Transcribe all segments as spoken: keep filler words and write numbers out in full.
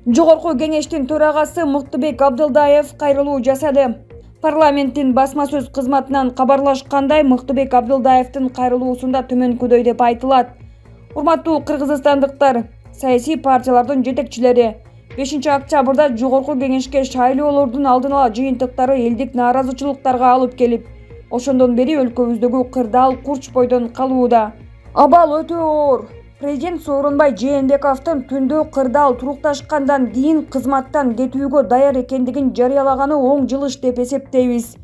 Жогорку кеңештин төрагасы Мыктыбек Абдылдаев кайрылуу жасады. Парламенттин басма сөз кызматынан кабарлашкандай, Мыктыбек Абдылдаевдин кайрылуусунда төмөнкүдөй деп айтылат. Урматтуу кыргызстандыктар, саясий партиялардын жетекчилери бешинчи октябрда Жогорку кеңешке шайлоолордун алдын ала жыйынтыктары элдик нааразычылыктарга алып келип, ошондон бери өлкөбүздөгү кырдаал курч бойдон калууда. Абал өтө оор. Президент Сооронбай Жээнбековдун түндө кырдаал турукташкандан кийин кызматтан кетүүгө даяр экендигин жарыялаганы оң жылыш деп эсептейбиз.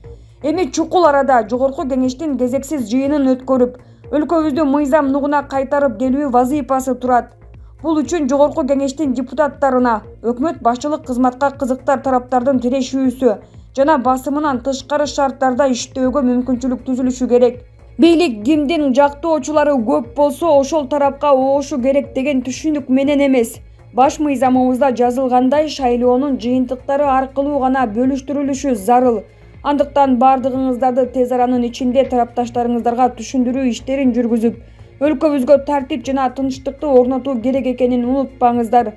Эми чукул арада Жогорку кеңештин кезексиз жыйынын өткөрүп, өлкөбүздү мыйзам нугуна кайтарып келүү вазыйфасы турат. Бул үчүн Жогорку кеңештин депутаттарына өкмөт башчылык кызматка кызыктар тараптардын тирешүүсү жана басымынан тышкары шарттарда иштөөгө мүмкүнчүлүк түзүлүшү керек. Бийлик кимдин жактоочулары көп болсо ошол тарапка оошу керек деген түшүнүк менен эмес. Баш мыйзамыбызда жазылгандай, шайлоонун жыйынтыктары аркылуу гана бөлүштүрүлүшү зарыл. Андыктан бардыгыңыздарды тез аранын ичинде тарапташтарыңыздарга түшүндүрүү иштерин жүргүзүп, өлкөбүзгө тартип жана тынчтыкты орнотуу керек экенин унутпаңыздар.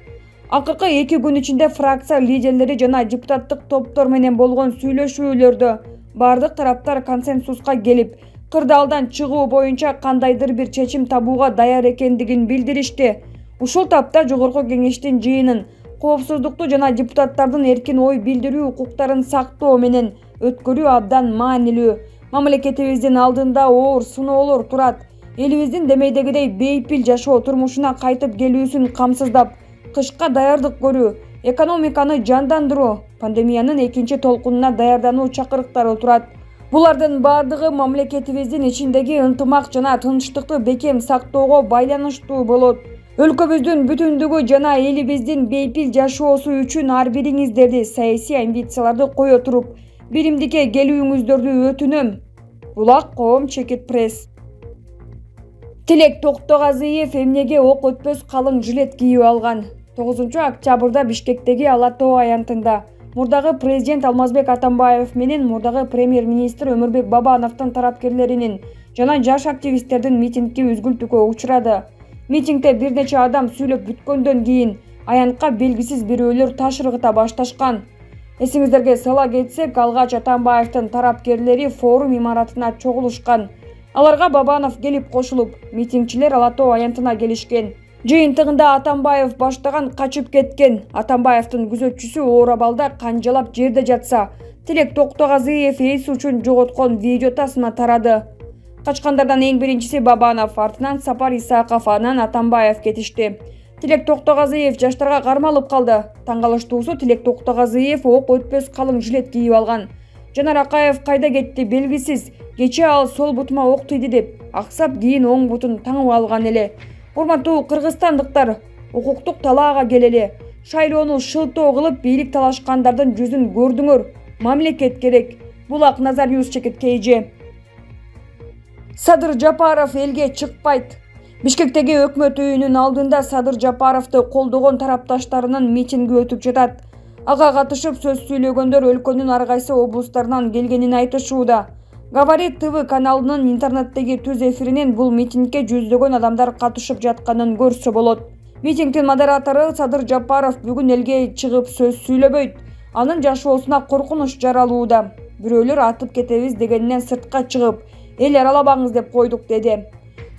Акыркы эки күн ичинде фракция лидерлери жана депутаттык топтор менен болгон сүйлөшүүлөрдө бардык тараптар консенсуска келип, кырдаалдан чыгуу боюнча кандайдыр бир чечим табууга даяр экендигин билдиришти. Ушул тапта Жогорку кеңештин жыйынын коопсуздукту жана депутаттардын эркин ой билдирүү укуктарын сактоо менен өткөрүү абдан маанилүү. Мамлекетибиздин алдында оор сыноолор турат. Элибиздин демейдегидей бейпил жашоо турмушуна кайтып келүүсүн камсыздап, кышка даярдык көрүү, экономиканы жандандыруу, пандемиянын экинчи толкунуна даярдануу чакырыктары турат. Булардын бардыгы мамлекетибиздин ичиндеги ынтымак жана тынчтыкты бекем сактоого байланыштуу болот. Өлкөбүздүн бүтүндүгү жана элибиздин бейпил жашоосу үчүн ар бириңиздерди саясий амбицияларды кое туруп, биримдикке келүүңүздөрдү өтүнөм. Булак коом чекит пресс. Тилек Токтогазыев эмнеге ок өтпөс калың жилет кийип алган? тогузунчу октябрда Бишкектеги Ала Тоо аянтында мурдагы президент Алмазбек Атамбаев менен мурдагы премьер-министр Өмүрбек Бабановдун тарапкерлеринин жана жаш активисттердин митингги үзгүлтүүгө учурады. Митингде бир нече адам сүйлөп бүткөндөн кийин аянтка белгисиз бирөөлөр таш ыргыта башташкан. Эсиңиздерге сала кетсек, алгач Атамбаевдин тарапкерлери форум имаратына чогулушкан. Аларга Бабанов келип кошулуп, митингчилер Ала Тоо аянтына келишкен. Жыйынтыгында Атамбаев баштаган качып кеткен. Атамбаевдин күзөтчүсү оор абалда канжалап жерде жатса, Тилек Токтогазыев эс учун жоготкон видео тасма тарады. Качкандардан эң биринчиси Бабанов, артынан Сапар Исаков, анан Атамбаев кетишти. Тилек Токтогазыев жаштарга кармалып калды. Таң калыштуусу, Тилек Токтогазыев ок өтпөс калың жилет кийип алган. Жанар Акаев кайда кетти белгисиз. Кечээ ал сол бутума ок тийди деп аксап, кийин оң бутун таңып алган эле. Урматтуу кыргызстандыктар, укуктук талаага келели. Шайлоону шылтоо кылып, бийлик талашкандардын жүзүн көрдүңөр. Мамлекет керек. Булак Назар Ньюс чекит КЖ. Садыр Жапаров элге чыкпайт. Бишкектеги өкмөт үйүнүн алдында Садыр Жапаровду колдогон тарапташтарынын митинги өтүп жатат. Ага катышып сөз сүйлөгөндөр өлкөнүн ар кайсы облустарынан келгенин айтышууда. Говорит ТВ каналынын интернеттеги түз эфиринен бул митингге жүздөгөн адамдар катышып жатканын көрсө болот. Митингдин модератору Садыр Жапаров бүгүн элге чыгып сөз сүйлөбөйт. Анын жашоосуна коркунуч жаралууда. Бирөөлөр атып кетебиз дегенинен сыртка чыгып, эл аралабаңыз деп койдук деди.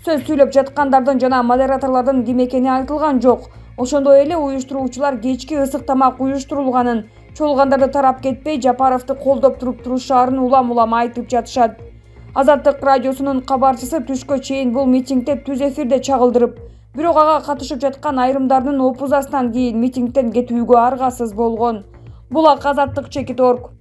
Сөз сүйлөп жаткандардын жана модераторлордун ким экени айтылган жок. Ошондой эле уюштуруучулар кечки ысык тамак уюштурулганын, чогулгандарды тарап кетпей Жапаровду колдоп туруп турушаарын улам-улам айтып жатышат. Азаттык радиосунун кабарчысы түшкө чейин бул митингде түз эфирде чагылдырып, бирок ага катышып жаткан айрымдардын опузасынан кийин митингден кетүүгө аргасыз болгон. Булак Азаттык чекит орг.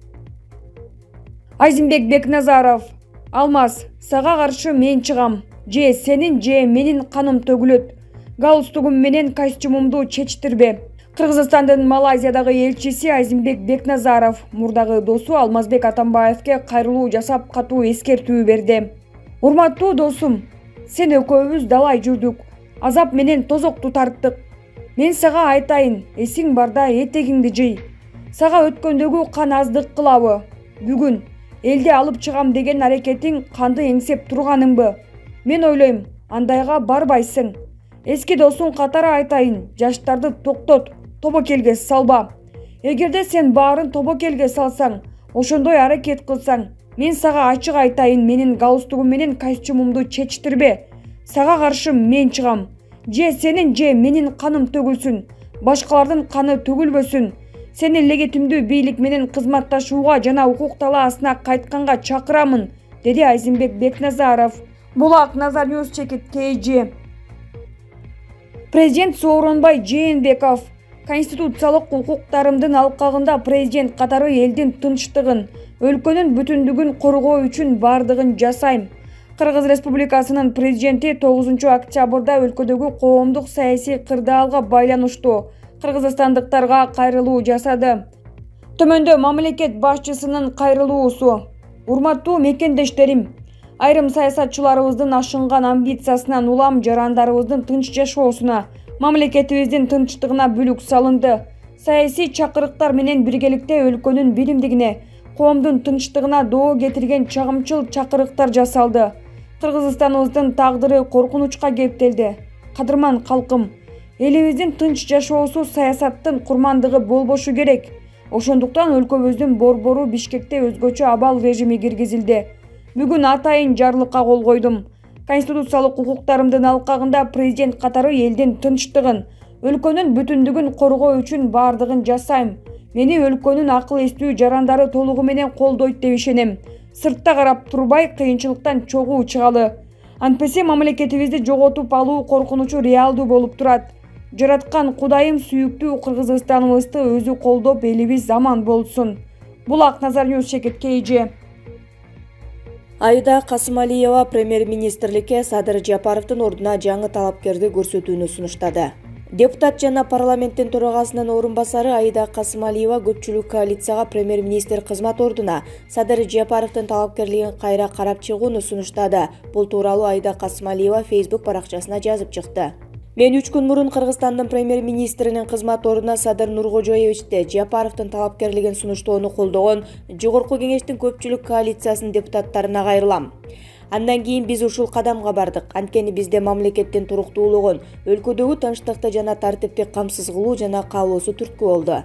Айзимбек Бекназаров. Алмаз, сага каршы мен чыгам. Же сенин же менин каным төгүлөт. Галстугум менен костюмумду чечтирбе. Кыргызстандын Малайзиядагы элчиси Айзимбек Бекназаров мурдагы досу Алмазбек Атамбаевке кайрылуу жасап катуу эскертүү берди. Урматтуу досум, сен экөөбүз далай жүрдүк, азап менен тозокту тарттык. Мен сага айтайын, эсиң барда этегиңди жый. Сага өткөндөгү кан аздык кылабы? Бүгүн элди алып чыгам деген аракетиң канды эңсеп турганыңбы? Мен ойлойм, андайга барбайсың. Эски досуң катары айтайын, жаштарды токтот, тобокелге салба. Эгерде сен баарын тобокелге салсаң, ошондой аракет кылсаң, мен сага ачык айтайын, менин галстугум менен костюмумду чечтирбе. Сага каршы мен чыгам. Же сенин же менин каным төгүлсүн, башкалардын каны төгүлбөсүн. Сени легитимдүү бийлик менен кызматташууга жана укук талаасына кайтканга чакырамын, деди Айзенбек Бекназаров. Булак Назар Ньюс Чекит кей жи. Президент Сооронбай Жээнбеков конституциялык укуктарымдын алкагында президент катары элдин тынчтыгын, өлкөнүн бүтүндүгүн коргоо үчүн бардыгын жасайм. Кыргыз Республикасынын президенти тогузунчу октябрда өлкөдөгү коомдук саясий кырдаалга байланыштуу кыргызстандыктарга кайрылуу жасады. Төмөндө мамлекет башчысынын кайрылуусу. Урматтуу мекендештерим, айрым саясатчыларыбыздын ашынган амбициясынан улам жарандарыбыздын тынч жашоосуна, мамлекетибиздин тынчтыгына бүлүк салынды. Саясий чакырыктар менен биргеликте өлкөнүн биримдигине, коомдун тынчтыгына доо кетирген чагымчыл чакырыктар жасалды. Кыргызстаныбыздын тагдыры коркунучка кептелди. Кадырман калкым, элибиздин тынч жашоосу саясаттын курмандыгы болбошу керек. Ошондуктан өлкөбүздүн борбору Бишкекте өзгөчө абал режими киргизилди. Бүгүн атайын жарлыкка кол койдум. Конституциялык укуктарымдын алкагында президент катары элдин тынчтыгын, өлкөнүн бүтүндүгүн коргоо үчүн бардыгын жасайм. Мени өлкөнүн акыл эстүү жарандары толугу менен колдойт деп ишенем. Сыртта карап турбай, кыйынчылыктан чогуу чыгалы. Антпесе мамлекетибизди жоготуп алуу коркунучу реалдуу болуп турат. Жараткан Кудайым сүйүктүү Кыргызстаныбызды өзү колдоп, элибиз аман болсун. Булак Назар Ньюс Чекит кей жи. Аида Касымалиева премьер-министрликке Садыр Жапаровдун ордуна жаңы талапкерди көрсөтүүнү сунуштады. Депутат жана парламенттин төрагасынын орун басары Аида Касымалиева көпчүлүк коалицияга премьер-министр кызмат ордуна Садыр Жапаровдун талапкерлигин кайра карап чыгууну сунуштады. Бул тууралуу Аида Касымалиева Facebook баракчасына жазып чыкты. Мен үч күн мурун Кыргызстандын премьер-министринин кызмат ордуна Садыр Нуркожоевичти Жапаровдун талапкерлигин сунуштоону колдогон Жогорку кеңештин көпчүлүк коалициясынын депутаттарына кайрылам. Андан кийин биз ушул кадамга бардык. Анткени бизде мамлекеттин туруктуулугун, өлкөдөгү тынчтыкты жана тартипти камсыз кылуу жана каалоосу түрткү болду.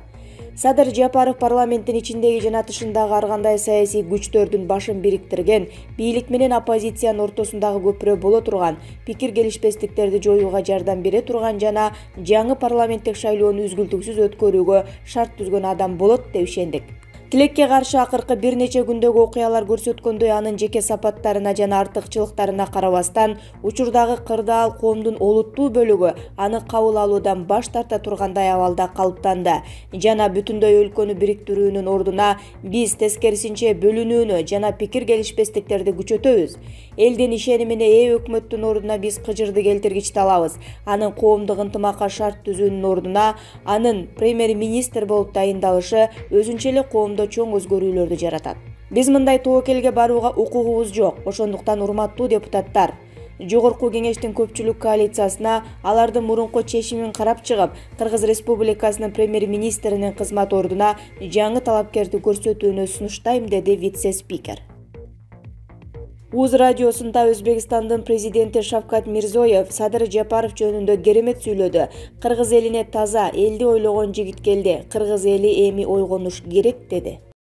Садыр Жапаров парламенттин ичиндеги жана тышындагы ар кандай саясий күчтөрдүн башын бириктирген, бийлик менен оппозициянын ортосундагы көпүрө боло турган, пикир келишпестиктерди жоюуга жардам бере турган жана жаңы парламенттик шайлоону үзгүлтүксүз өткөрүүгө шарт түзгөн адам болот деп ишендик. Тилекке каршы акыркы бир нече күндөгү окуялар көрсөткөндөй, анын жеке сапаттарына жана артыкчылыктарына карабастан, учурдагы кырдаал коомдун олуттуу бөлүгү аны кабыл алуудан баш тарта тургандай абалда калыптанды жана бүтүндөй өлкөнү бириктирүүнүн ордуна биз тескерисинче бөлүнүүнү жана пикир келишпестиктерди күчөтөбүз. Элдин ишенимине ээ өкмөттүн ордуна биз кыжырды келтиргичти алабыз. Анын коомдук ынтымакка шарт түзүүнүн ордуна анын премьер-министр болуп дайындалышы өзүнчө эле коомдо чоң өзгөрүүлөрдү жаратат. Биз мындай тобокелге барууга укугубуз жок. Ошондуктан урматтуу депутаттар, Жогорку кеңештин көпчүлүк коалициясына алардын мурунку чечимин карап чыгып, Кыргыз Республикасынын премьер-министринин кызмат ордуна жаңы талапкерди көрсөтүүнү сунуштайм, деди вице-спикер. УЗ радиосунда Өзбекстандын президенти Шавкат Мирзиёев Садыр Жапаров жөнүндө керемет сүйлөдү. Кыргыз элине таза, элди ойлогон жигит келди. Кыргыз эли эми ойгонуш керек, деди.